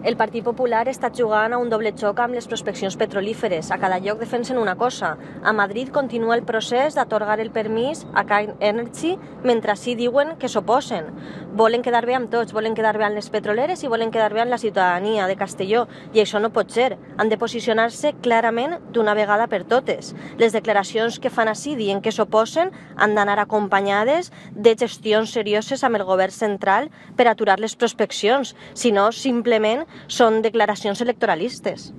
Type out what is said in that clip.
El Partit Popular està jugant a un doble xoc amb les prospeccions petrolíferes. A cada lloc defensen una cosa. A Madrid continua el procés d'atorgar el permís a Cairn Energy, mentre així diuen que s'oposen. Volen quedar bé amb tots, volen quedar bé amb les petroleres i volen quedar bé amb la ciutadania de Castelló. I això no pot ser. Han de posicionar-se clarament d'una vegada per totes. Les declaracions que fan així dient que s'oposen han d'anar acompanyades de gestions serioses amb el govern central per aturar les prospeccions. Si no, simplement són declaracions electoralistes.